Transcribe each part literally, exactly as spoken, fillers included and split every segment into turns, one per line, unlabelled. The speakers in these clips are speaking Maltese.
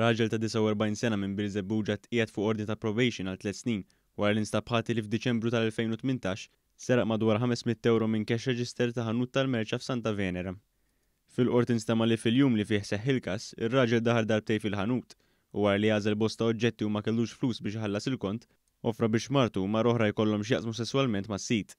Raġel ta' disgħa u erbgħin sena minn Birżebbuġa tqiegħed fuq ordni ta' probation għal tliet snin wara li nstab ħati li f'Diċembru tal-elfejn u tmintax seraq madwar ħames mitt ewro minn cash register ta' ħanut tal-merċa f'Santa Venera. Fil-qorti nstema' li fil-jum li fih seħħ il-każ, ir-raġel daħal darbtejn fil-ħanut u wara li għażel bosta oġġetti u ma kellux flus biex iħallas il-kont, offra biex martu u mara oħra jkollhom x'jaqsmu sesswalment mas-sid.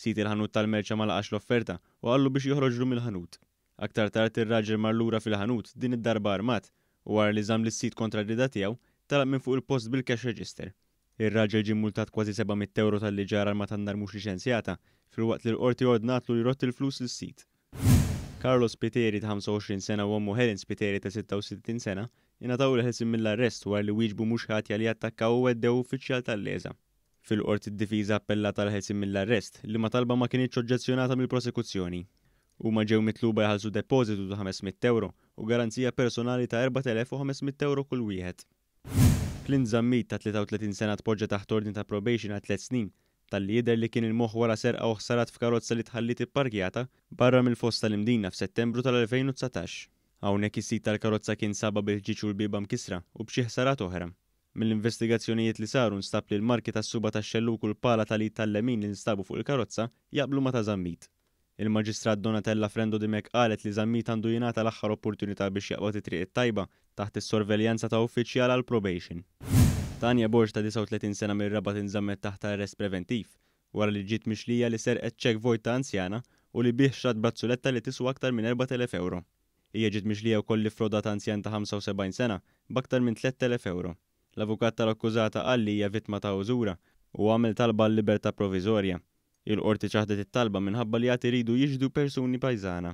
Sid il-ħanut tal-merċa ma laqax l-offerta u qallu biex joħroġlu mill-ħanut. Aktar tard ir-raġel mar lura fil-ħanut, din id-darba armat, u wara li żamm lis-sid kontra r-rieda tiegħu, telaq minn fuq il-post bil-cash register. Ir-raġel ġie mmultat kważi seba' mitt ewro talli ġarr arma tan-nar mhux liċenzjata, filwaqt li l-qorti ordnatlu li jrodd il-flus lis-sid. Carlos Spiteri ta' ħamsa u għoxrin sena u ommu Helen Spiteri ta' sitta u sittin sena ingħataw il-ħelsien mill-arrest wara li wieġbu mhux ħatja li attakkaw u għeddew uffiċjal tal-LESA. Fil-qorti d-difiża appellat għall-ħelsien mill-arrest, liema talba ma kinitx oġġezzjonata mill-prosekuzzjoni. Huma ġew mitluba jħallsu depożitu ta' ħames mitt ewro u garanzija personali ta' erbat elef u ħames mitt ewro kull wieħed. Clint Zammit ta' tlieta u tletin sena tpoġġa taħt ordni ta' probation għal tliet snin talli jidher li kien il-moħħ wara serqa u ħsarat f'karozza li tħalliet ipparkjata barra mill-foss tal-Imdina f'Settembru tal-elfejn u dsatax. Hawnhekk is-sid tal-karozza kien sabha bil-ħġieġ u l-bieba mkissra u b'xi ħsarat oħra. Mill-investigazzjonijiet li saru nstab li l-marki tas-suba tax-xellug u l-pala tal-id tal-lemin li nstabu fuq il-karozza jaqblu ma' ta' Zammit. Il-Maġistrat Donatella Frendo Dimech qalet li Zammit għandu jingħata l-aħħar opportunità biex jaqbad it-triq it-tajba taħt is-sorveljanza ta' uffiċjal għal probation. Tanja Borg ta' disgħa u tletin sena mir-Rabat inżammet taħt arrest preventiv wara li ġiet mixlija li serqet ċekk vojt ta' anzjana u li bih xtrat brazzuletta li tiswa aktar minn erbat elef ewro. Hija ġiet mixlija wkoll li ffrodat anzjan ta' ħamsa u sebgħin sena b'aktar minn tlett elef ewro. L-avukat tal-akkużata qal li hija vittma ta' użura u għamel talba għal libertà proviżorja. Il-qorti ċaħdet it-talba minħabba li għad iridu jixhdu persuni pajżana.